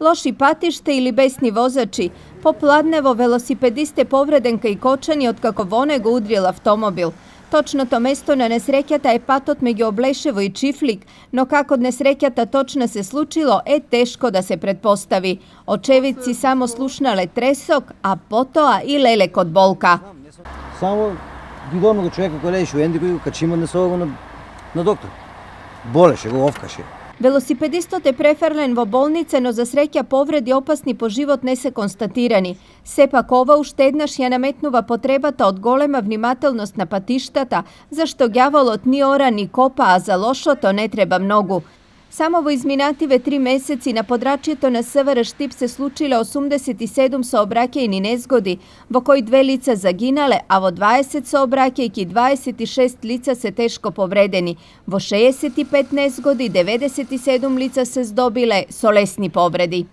Лоши патиште или бесни возачи. Попладнево велосипедист е повреден кај Кочани откако во него удрил автомобил. Точното место на несреќата е патот меѓу Облешево и Чифлик, но како несреќата точно се случило е тешко да се предпостави. Очевидци само слушнале тресок, а потоа и лелек од болка. Само видовме го човека кој лежеше во Енди, кој го качима на доктор. Болеше, го овкаше. Велосипедистот е префрлен во болница, но за среќа повреди опасни по живот не се констатирани. Сепак ова уште еднаш ја наметнува потребата од голема внимателност на патиштата, зашто ѓаволот ни ора ни копа, а за лошото не треба многу. Само во изминативе 3 месеци на подрачјето на СВР Штип се случиле 87 сообраќајни незгоди, во кои 2 лица загинале, а во 20 сообраќајки 26 лица се тешко повредени. Во 65 незгоди 97 лица се здобиле со лесни повреди.